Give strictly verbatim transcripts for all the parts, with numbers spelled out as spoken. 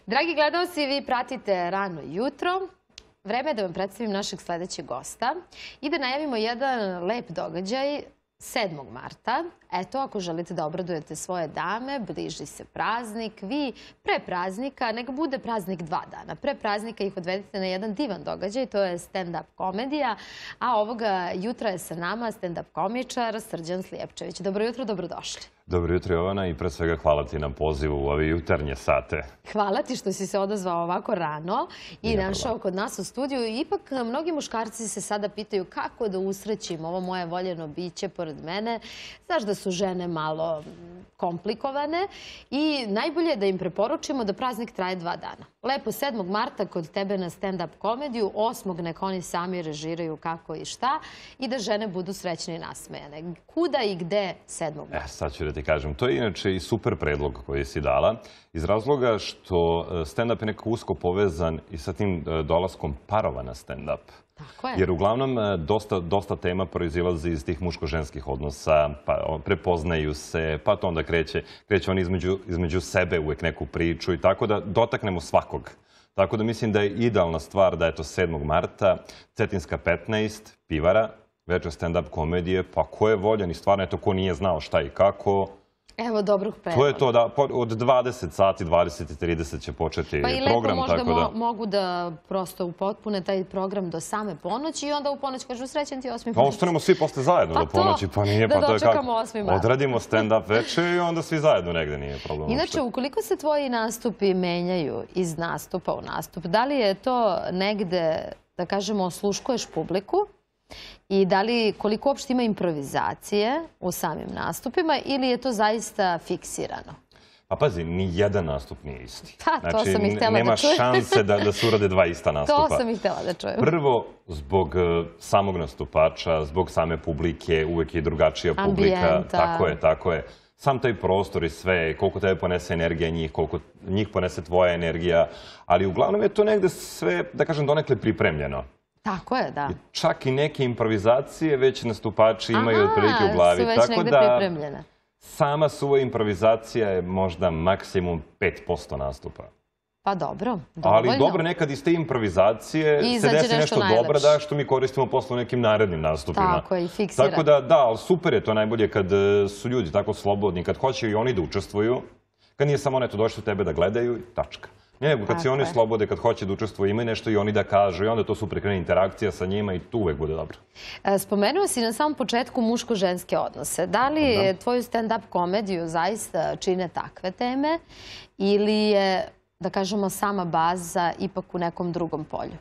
Dragi gledalci, vi pratite Rano jutro. Vreme je da vam predstavim našeg sledećeg gosta i da najavimo jedan lep događaj sedmog marta. Eto, ako želite da obradujete svoje dame, bliži se praznik, vi pre praznika, neka bude praznik dva dana. Pre praznika ih odvedite na jedan divan događaj, to je stand-up komedija, a ovoga jutra je sa nama stand-up komičar Srđan Slijepčević. Dobro jutro, dobrodošli. Dobro jutro, Jovana, i pre svega hvala ti na pozivu u ove jutarnje sate. Hvala ti što si se odazvao ovako rano i našao kod nas u studiju. Ipak, mnogi muškarci se sada pitaju kako da usrećim ovo moje voljeno biće pored mene. Znaš da su žene malo komplikovane i najbolje je da im preporučimo da praznik traje dva dana. Lepo sedmog marta kod tebe na stand-up komediju, osmog nek oni sami režiraju kako i šta i da žene budu srećne i nasmejane. Kuda i gde sedmog marta? E, sad ću da ti kažem. To je inače i super predlog koji si dala, iz razloga što stand-up je nekako usko povezan i sa tim dolaskom parova na stand-up. Tako je. Jer uglavnom dosta, dosta tema proizilazi iz tih muško-ženskih odnosa, pa prepoznaju se, pa to onda kreće, kreće oni između, između sebe uvek neku priču i tako da dotaknemo svakog. Tako da mislim da je idealna stvar da je to sedmog marta, Cetinska petnaest, Pivara, večer stand-up komedije, pa ko je voljan i stvarno je to ko nije znao šta i kako. Evo dobrog predloga. To je to da od dvadeset sati, dvadeset i trideset će početi program. Pa i lepo možda mogu da prosto upotpune taj program do same ponoći i onda u ponoć kažu srećan ti osmi mart. Pa ostanemo svi posle zajedno do ponoći, pa nije, pa to je kako. Odradimo stand-up večer i onda svi zajedno negde, nije problem. Inače, ukoliko se tvoji nastupi menjaju iz nastupa u nastup, da li je to negde, da kažemo, osluškuješ publiku? I da li, koliko uopšte ima improvizacije u samim nastupima ili je to zaista fiksirano? Pa pazi, ni jedan nastup nije isti. Pa, to sam i htjela da čujem. Nema šanse da se urade dva ista nastupa. To sam i htjela da čujem. Prvo, zbog samog nastupača, zbog same publike, uvek je drugačija publika. Ambijenta. Tako je, tako je. Sam taj prostor i sve, koliko tebe ponese energija njih, koliko njih ponese tvoja energija, ali uglavnom je to negde sve, da kažem, donekle pripremljeno. Tako je, da. Čak i neke improvizacije već nastupači imaju otprilike u glavi. Aha, su već negde pripremljene. Sama suva improvizacija je možda maksimum pet posto nastupa. Pa dobro, dovoljno. Ali dobro, nekad iz te improvizacije se desi nešto dobro da što mi koristimo posle u nekim narednim nastupima. Tako je, i fiksira. Tako da, da, ali super je to najbolje kad su ljudi tako slobodni, kad hoće i oni da učestvuju, kad nije samo neto došli tebe da gledaju i tačka. Nego, kad se oni slobode, kad hoće da učestvuju, imaju nešto i oni da kažu i onda to super krene interakcija sa njima i tu uvek bude dobro. Spomenuo si na samom početku muško-ženske odnose. Da li tvoju stand-up komediju zaista čine takve teme ili je, da kažemo, sama baza ipak u nekom drugom polju?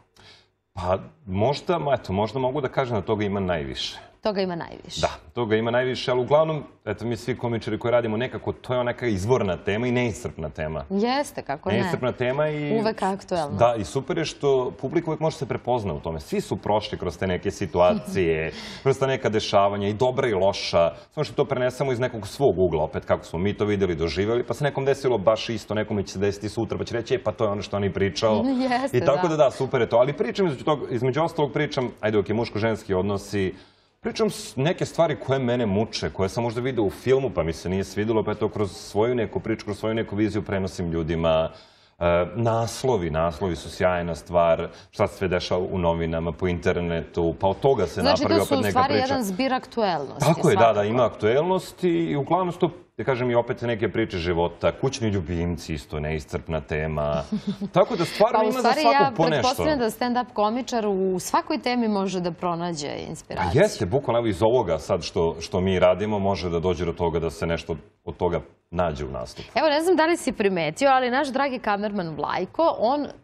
Pa možda, eto, možda mogu da kažem da toga ima najviše. Toga ima najviše. Da, toga ima najviše, ali uglavnom, eto, mi svi komičari koji radimo nekako, to je neka izvorna tema i neiscrpna tema. Jeste, kako ne. Neiscrpna tema i... Uvek aktuelno. Da, i super je što publika uvek može se prepozna u tome. Svi su prošli kroz te neke situacije, kroz ta neka dešavanja, i dobra i loša. Samo što to prenesemo iz nekog svog ugla, opet kako smo mi to videli, doživjeli, pa se nekom desilo baš isto, nekome će se desiti sutra, pa će reći, e, pa to je ono što on i pričao. Jeste, da. I tako da, da, super je to. Ali pričam, između ostalog pričam, ajde, ok, muško-ženski odnosi, pričam neke stvari koje mene muče, koje sam možda vidio u filmu pa mi se nije svidilo, pa eto kroz svoju neku priču, kroz svoju neku viziju prenosim ljudima. Naslovi, naslovi su sjajna stvar, šta se sve dešava u novinama, po internetu, pa od toga se napravi opet neka priča. Znači to su u stvari jedan zbir aktuelnosti. Tako je, da, da, ima aktuelnosti i uglavnom su to, da kažem, i opet neke priče života, kućni ljubimci, isto neiscrpna tema. Tako da stvarno ima za svakog po nešto. Pa u stvari ja pretpostavljam da stand-up komičar u svakoj temi može da pronađe inspiraciju. Pa jeste, bukvalno iz ovoga sad što mi radimo može da dođe do toga da se nešto od toga nađe u nastupu. Evo, ne znam da li si primetio, ali naš dragi kamerman Vlajko,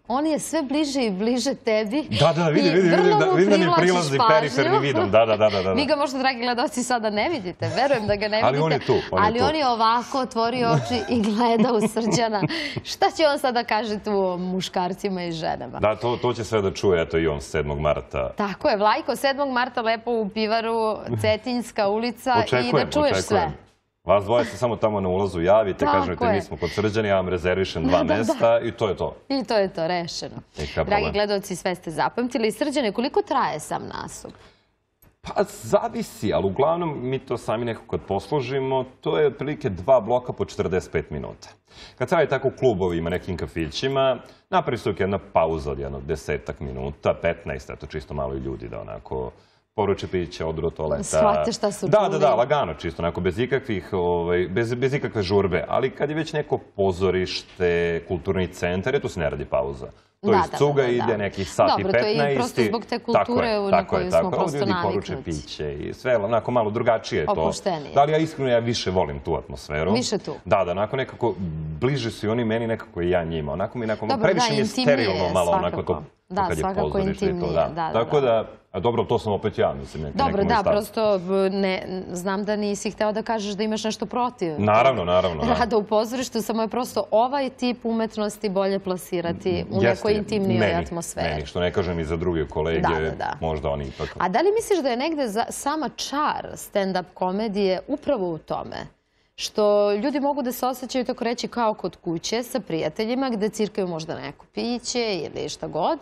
on je sve bliže i bliže tebi. Da, da, vidi, vidi, vidi da mi prilazi periferni vidom. Da, da, da, da. Vi ga možda, dragi gledalci, sada ne vidite. Verujem da ga ne vidite. Ali on je tu. Ali on je ovako otvorio oči i gleda u Srđana. Šta će on sada kaže tu muškarcima i ženama? Da, to će sve da čuje, eto i on sedmog marta. Tako je, Vlajko, sedmog marta lepo u Pivaru, Cetinjska ulica i da čuješ sve. Vas dvoje se samo tamo na ulazu javite, kažete mi smo kod Srđana, ja vam rezervišem dva mesta i to je to. I to je to, rešeno. Dragi gledalci, sve ste zapamtili. Srđane, koliko traje sam nastup? Pa zavisi, ali uglavnom mi to sami nekako kad posložimo, to je otprilike dva bloka po četrdeset pet minuta. Kad se radi tako u klubovima, nekim kafićima, napravi se jedna pauza od jedno desetak minuta, petnaest, eto čisto malo i ljudi da onako poruče piće, odu do toaleta. Shvate šta su Da, čuli. da, da, lagano čisto, onako, bez ikakvih, ovaj, bez, bez ikakve žurbe. Ali kad je već neko pozorište, kulturni centar, je tu se ne radi pauza. To Da, iz da, cuga da, da. ide nekih sat i Dobro, to je i petnaest. prosto zbog te kulture Tako je, na tako koju je, smo tako je. prosto Ovdje ljudi poruče naviknuti. piće i sve, onako malo drugačije je to. Opuštenije. Da, ali ja iskreno ja više volim tu atmosferu. Više tu. Da, da, onako nekako bliže su i oni meni nekako i ja njima. Onako mi nekako, Dobro, previše da, mi je intimnije sterilno malo onako svakako. to, Da, to kad je svakako pozorište i to, intimnije, da. da, da, Tako da. da, a dobro, to sam opet ja, mislim, neki Dobro, neki moj da, stav. prosto b- ne, znam da nisi hteo da kažeš da imaš nešto protiv. Naravno, naravno. da. Rada u pozorištu, samo je prosto ovaj tip umetnosti bolje plasirati u Jeste, nekoj intimnijoj meni, atmosferi. Meni, što ne kažem i za druge kolege, Da, da, da. možda oni ipak... A da li misliš da je negde za, sama čar stand-up komedije upravo u tome? Što ljudi mogu da se osjećaju, tako reći, kao kod kuće sa prijateljima gde cirkaju možda neko piće ili šta god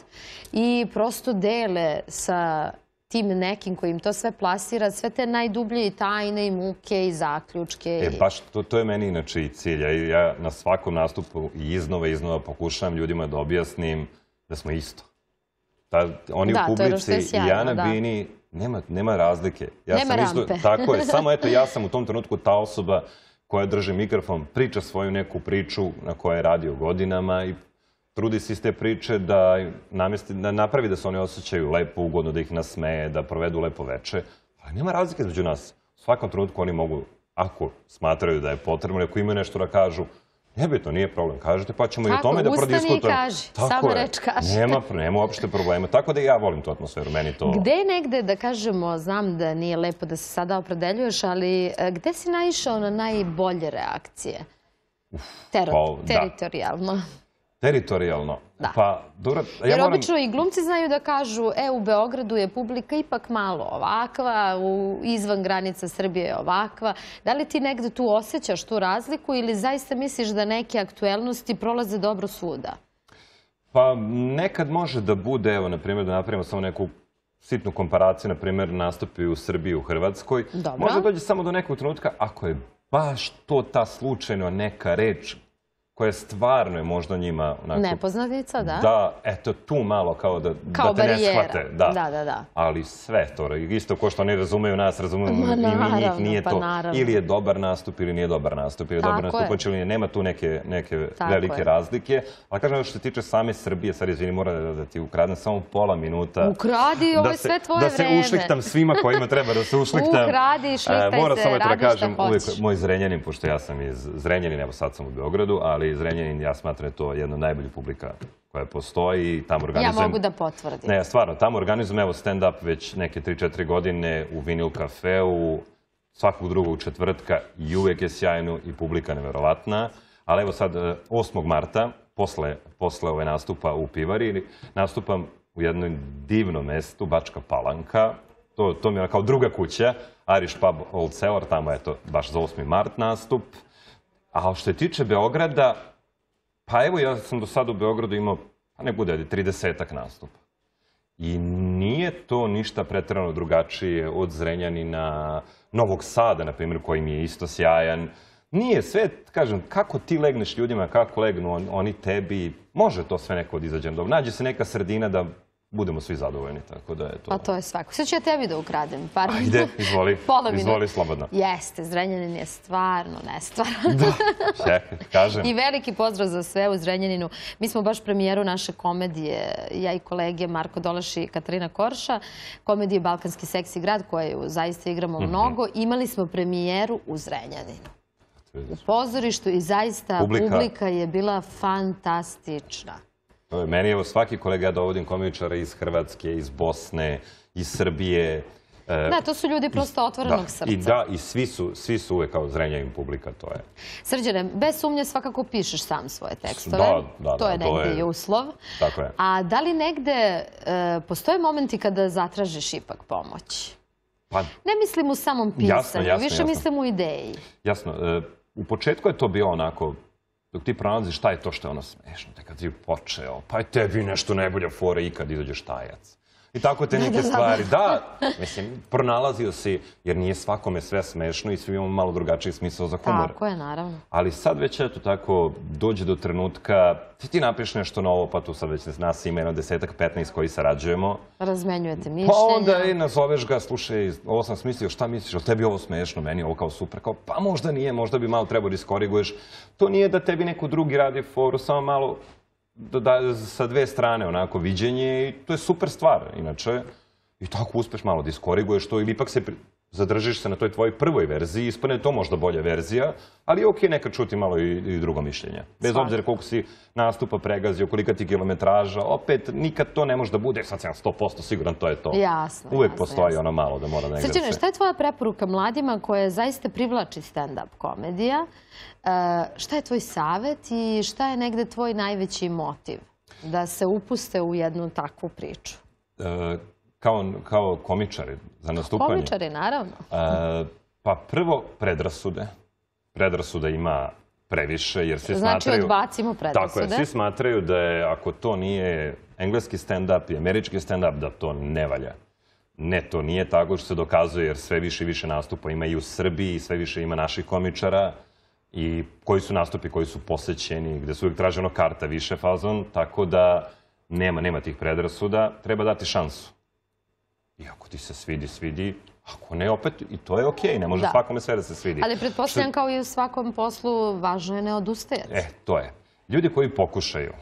i prosto dele sa tim nekim koji im to sve plasira, sve te najdublje i tajne i muke i zaključke. E, i... baš to, to je meni inače i cilj. Ja, ja na svakom nastupu i iznova i iznova pokušavam ljudima da objasnim da smo isto. Ta, oni Da, u to je ono što je publici i sjajno, ja na da. bini, nema, nema razlike. Ja Nema sam isto, rampe. tako je, samo eto ja sam u tom trenutku ta osoba koja drži mikrofon, priča svoju neku priču na kojoj je radio godinama i trudi se iz te priče da, namesti, da napravi da se oni osjećaju lepo, ugodno, da ih nasmeje, da provedu lepo veče. Ali nema razlike između nas. U svakom trenutku oni mogu, ako smatraju da je potrebno, ako imaju nešto da kažu, nebitno, nije problem. Kažete, pa ćemo i o Tako, tome da ustani i prodiskutujemo. kaži. Tako Samo je. reč kaži. Nema, nema uopšte problema. Tako da i ja volim tu atmosferu. Meni to... Gde je negde, da kažemo, znam da nije lepo da se sada opredeljuješ, ali e, gde si naišao na najbolje reakcije? Tero, pa, da. teritorijalno. Teritorijalno. Da. Pa, dobro, ja Jer moram... obično i glumci znaju da kažu, e, u Beogradu je publika ipak malo ovakva, u, izvan granica Srbije je ovakva. Da li ti negde tu osjećaš tu razliku ili zaista misliš da neke aktuelnosti prolaze dobro svuda? Pa nekad može da bude, evo, na primjer, da napravimo samo neku sitnu komparaciju, na primjer, nastupi u Srbiji i u Hrvatskoj. Dobro. Možda dođe samo do nekog trenutka, ako je baš to ta slučajno neka reč koja stvarno je možda njima onako... Nepoznanica, da? Da, eto, tu malo kao da, Kao da te ne barijera. shvate. Da. Da, da, da. Ali sve to, isto ko što oni razumeju nas, razumeju Ma, i mi njih, naravno, nije pa to. naravno. Ili je dobar nastup ili nije dobar nastup, ili je Tako dobar je. nastupač ili nije. Nema tu neke, neke Tako velike je. razlike. Ali kažem, što se tiče same Srbije, sad izvini, moram da, da ti ukradnem samo pola minuta. Ukradi, ovo Da je se- sve tvoje Da se vreme. ušliktam svima kojima treba da se ušliktam. Ukradi, šliktaj E, moram se, samo eto da radi šta kažem, uvijek hoćeš. moj Zrenjanin, pošto ja sam iz Zrenjanina, evo sad sam u Beogradu, ali Zrenjanin, ja smatram da je to jedna od najboljih publika koja postoji i tamo Ja organizujem... mogu da potvrdim. Ne, stvarno, tamo organizujem evo stand-up već neke tri četiri godine u Vinil kafeu, svakog drugog četvrtka i uvijek je sjajno i publika neverovatna. Ali evo sad, e, osmog marta, posle, posle ove nastupa u Pivari, nastupam u jednom divnom mestu, Bačka Palanka. To, to mi je kao druga kuća, Irish Pub Old Cellar, tamo je to baš za osmi mart nastup. A što se tiče Beograda, pa evo ja sam do sada u Beogradu imao, pa ne bude, tridesetak nastupa. I nije to ništa pretjerano drugačije od Zrenjanina, Novog Sada, na primjer, koji mi je isto sjajan. Nije sve, kažem, kako ti legneš ljudima, kako legnu on- oni tebi, može to sve neko od izađem dobro. Nađe se neka sredina da budemo svi zadovoljni, tako da je to... Pa to je svako. Sad ću ja tebi da ukradem. Par Ajde, izvoli, Pola minuta. izvoli slobodno. Jeste, Zrenjanin je stvarno nestvaran. Da, čekaj, kažem. I veliki pozdrav za sve u Zrenjaninu. Mi smo baš premijeru naše komedije, ja i kolege Marko Doleš i Katarina Korša, komedije Balkanski seksi grad, koju zaista igramo Mhm. mnogo. Imali smo premijeru u Zrenjaninu. U pozorištu i zaista Publika- publika je bila fantastična. To je meni, evo, svaki kolega, ja dovodim komičara iz Hrvatske, iz Bosne, iz Srbije. e, Da, to su ljudi prosto otvorenog da, srca. I da, i svi su, svi su uvek kao Zrenjanin publika, to je. Srđane, bez sumnje svakako pišeš sam svoje tekstove. Da, da, To da, je to negde je- i uslov. Tako je. A da li negde e, postoje momenti kada zatražiš ipak pomoć? Pa, Ne mislim u samom pisanju, Jasno, jasno, više jasno. mislim u ideji. jasno, e, u početku je to bilo onako, dok ti pronalaziš šta je to što je ono smešno, te kad si počeo, pa je tebi nešto najbolja fora i kad izađeš tajac. I tako te neke stvari. Da, mislim, pronalazio si, jer nije svakome sve smešno i svi imamo malo drugačiji smisao za humor. Tako je, naravno. Ali sad već, eto, tako, dođe do trenutka, ti ti napiš nešto novo, pa tu sad već nas ima jedno desetak, petnaest koji sarađujemo. Razmenjujete mišljenja. Pa onda i nazoveš ga, slušaj, ovo sam smislio, šta misliš, ali tebi ovo smešno, meni ovo kao super, kao, pa možda nije, možda bi malo trebao da iskoriguješ. To nije da tebi neko drugi radi foru, samo malo da, sa dve strane onako viđenje i to je super stvar, inače. I tako uspeš malo da iskoriguješ to ili ipak se zadržiš se na toj tvojoj prvoj verziji, ispane to možda bolja verzija, ali je okej nekad čuti malo i, i drugo mišljenje. Bez obzira koliko si nastupa pregazio, kolika ti kilometraža, opet nikad to ne može da bude, sad sam sto posto siguran, to je to. Jasno. Uvek jasno, postoji jasno. ono malo da mora negde se... Srđane, šta je tvoja preporuka mladima koje zaista privlači stand-up komedija? E, šta je tvoj savet i šta je negde tvoj najveći motiv da se upuste u jednu takvu priču? E, kao, kao komičari za nastupanje? Komičari, naravno. E, pa prvo, predrasude. Predrasuda ima previše, jer svi znači, smatraju... Znači, odbacimo predrasude. Tako je, svi smatraju da je, ako to nije engleski stand-up i američki stand-up, da to ne valja. Ne, to nije tako što se dokazuje, jer sve više i više nastupa ima i u Srbiji, sve više ima naših komičara i koji su nastupi, koji su posećeni, gde su uvijek traženo karta više fazon, tako da nema, nema tih predrasuda, treba dati šansu. I ako ti se svidi, svidi, ako ne, opet, i to je okej, ne može svakome sve da se svidi. Ali pretpostavljam kao i u svakom poslu, važno je ne odustajati. E, to je. Ljudi koji pokušaju,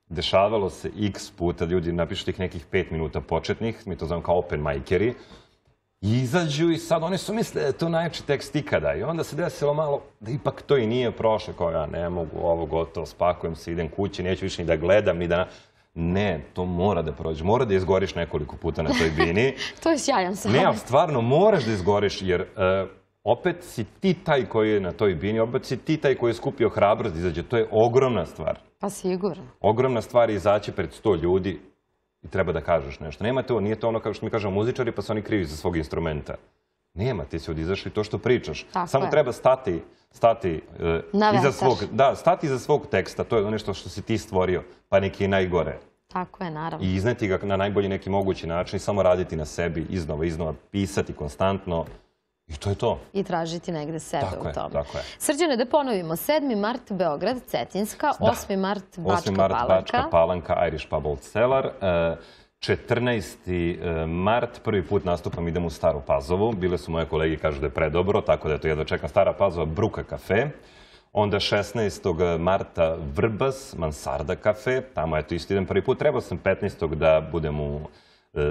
dešavalo se x puta, ljudi napišu tih nekih pet minuta početnih, mi to zovem kao open majkeri, izađu i sad oni su misle da je to najjači tekst ikada. I onda se desilo malo da ipak to i nije prošlo, kao ja ne mogu, ovo gotovo, spakujem se, idem kući, neću više ni da gledam, ni da... Ne, to mora da prođe. Mora da izgoriš nekoliko puta na toj bini. To je sjajan savjet. Ne, ali stvarno moraš da izgoriš, jer uh, opet si ti taj koji je na toj bini, opet si ti taj koji je skupio hrabrost da izađe. To je ogromna stvar. Pa sigurno. Ogromna stvar je izaći pred sto ljudi i treba da kažeš nešto. Nema to, nije to ono kao što mi kažemo muzičari pa su oni krivi za svog instrumenta. Nema, ti si odizašli to što pričaš. Tako Samo je. treba stati, stati uh, iza svog, da, stati iza svog teksta. To je nešto što si ti stvorio, pa neki je najgore. Tako je, naravno. I izneti ga na najbolji neki mogući način i samo raditi na sebi, iznova, iznova, pisati konstantno. I to je to. I tražiti negde sebe tako u tome. Je, tako je. Srđane, da ponovimo. sedmi mart Beograd, Cetinska, osmi mart Bačka osmi mart Bačka Palanka, Irish Pub Old Cellar. četrnaesti mart, prvi put nastupam, idem u Staru Pazovu. Bile su moje kolege, kažu da je predobro, tako da je to jedno čekam. Stara Pazova, Bruka kafe. Onda šesnaestog marta Vrbas, Mansarda kafe. Tamo je to isto idem prvi put. Trebao sam petnaestog da budem u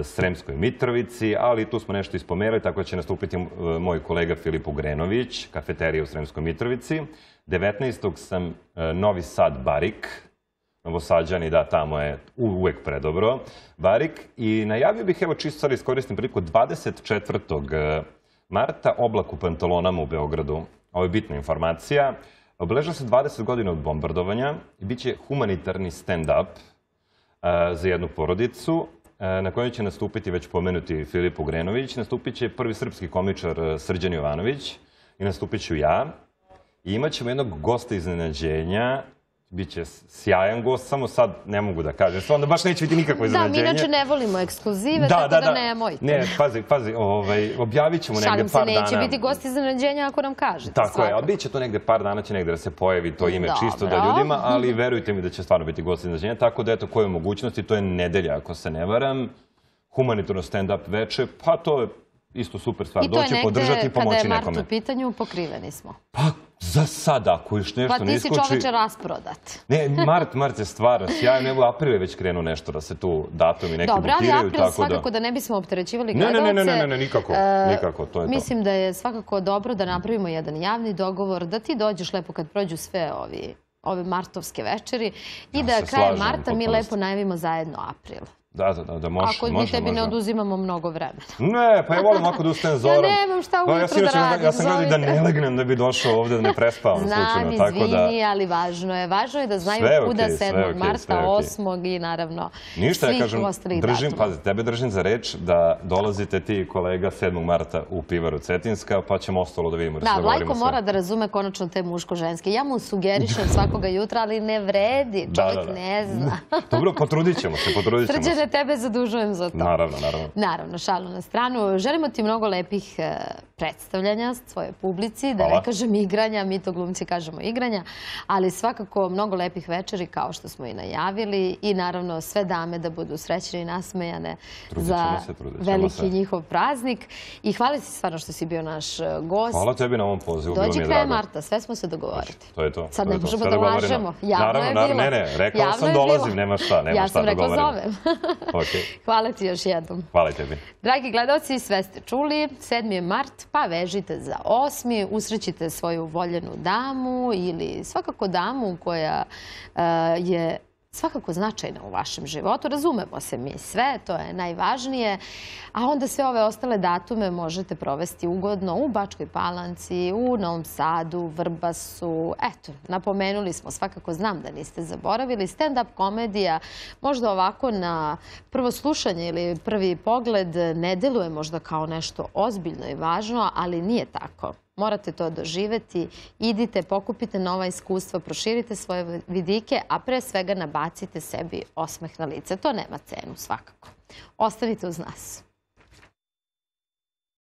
Sremskoj Mitrovici, ali tu smo nešto ispomerali, tako da će nastupiti moj kolega Filip Ugrenović, kafeterija u Sremskoj Mitrovici. devetnaestog sam Novi Sad Barik, Novosađani, da, tamo je uvek predobro, Barik. I najavio bih, evo čisto sad iskoristim priliku, dvadeset četvrtog marta Oblak u pantalonama u Beogradu. Ovo je bitna informacija. Obeležava se dvadeset godina od bombardovanja i bit će humanitarni stand-up za jednu porodicu, na kojoj će nastupiti već pomenuti Filip Ugrenović, nastupit će prvi srpski komičar Srđan Jovanović i nastupit ću ja. I imat ćemo jednog gosta iznenađenja, biće sjajan gost, samo sad ne mogu da kažem. Onda baš neće biti nikakvo iznenađenje. Da, mi inače ne volimo ekskluzive, tako da nemojte. Ne, pazi, pazi, objavit ćemo negde par dana. Šalim se, neće biti gost iznenađenja ako nam kažete. Tako je, ali bit će to negde par dana, će negde da se pojavi to ime čisto da ljudima, ali verujte mi da će stvarno biti gost iznenađenja. Tako da, eto, koje mogućnosti, to je nedelja, ako se ne varam, humanitarno stand-up veče, pa to je isto super stvar. Doći, podržati i pomoći nekome. I to je negde, kada je Mart u pitanju, pokriveni smo. Pa, za sada, ako još nešto ne iskuči... Pa ti si čoveče rasprodat. Ne, Mart, Mart je stvarno sjajno. Evo, april je već krenuo nešto da se tu datumi neki butiraju. Dobro, ali april svakako da ne bismo opterećivali gledalce. Ne, ne, ne, ne, nikako, nikako, to je to. Mislim da je svakako dobro da napravimo jedan javni dogovor, da ti dođeš lepo kad prođu sve ovi ove martovske večeri i da krajem marta mi lepo najavimo zajedno april. Da, da, da, može. Ako mi tebi ne oduzimamo mnogo vremena. Ne, pa ja volim ovako da ustajem zorom. Ja nemam šta ujutru da radim. Ja sam gledao da ne legnem da bi došao ovde, da ne prespavam slučajno. Znam, izvini, ali važno je. Važno je da znaju kuda sedmog marta, osmog i naravno svih ostalih datuma. Pazi, tebe držim za reč da dolazite ti i kolega sedmog marta u Pivaru Cetinska, pa ćemo ostalo da vidimo. Da, Vlajko mora da razume konačno te muško-ženske. Ja mu sugerišem svakoga jutra, ali ne vredi. Čovjek ne zna. Dobro, potrudit ćemo se, potrudit ćemo se. ja tebe zadužujem za to. Naravno, naravno. Naravno, šalu na stranu. Želimo ti mnogo lepih predstavljanja svoje publici, da ne kažem igranja, mi to glumci kažemo igranja, ali svakako mnogo lepih večeri kao što smo i najavili i naravno sve dame da budu srećne i nasmejane za veliki njihov praznik. I hvala ti stvarno što si bio naš gost. Hvala tebi na ovom pozivu, bilo mi je drago. Dođi krajem marta, sve smo se dogovoriti. To je to. Sad ne možemo da lažemo. Javno je bilo. Ne, ne, rekao sam dolazim, nema šta, nema šta dogovorimo. Ja sam rekla zovem. Hvala ti još jednom. Hvala tebi. Dragi gledalci, sve ste čuli, sedmi je mart, pa vežite za osmi, usrećite svoju voljenu damu ili svakako damu koja je svakako značajna u vašem životu. Razumemo se mi sve, to je najvažnije. A onda sve ove ostale datume možete provesti ugodno u Bačkoj Palanci, u Novom Sadu, Vrbasu. Eto, napomenuli smo, svakako znam da niste zaboravili. Stand-up komedija možda ovako na prvo slušanje ili prvi pogled ne deluje možda kao nešto ozbiljno i važno, ali nije tako. Morate to doživeti, idite, pokupite nova iskustva, proširite svoje vidike, a pre svega nabacite sebi osmeh na lice. To nema cenu svakako. Ostanite uz nas.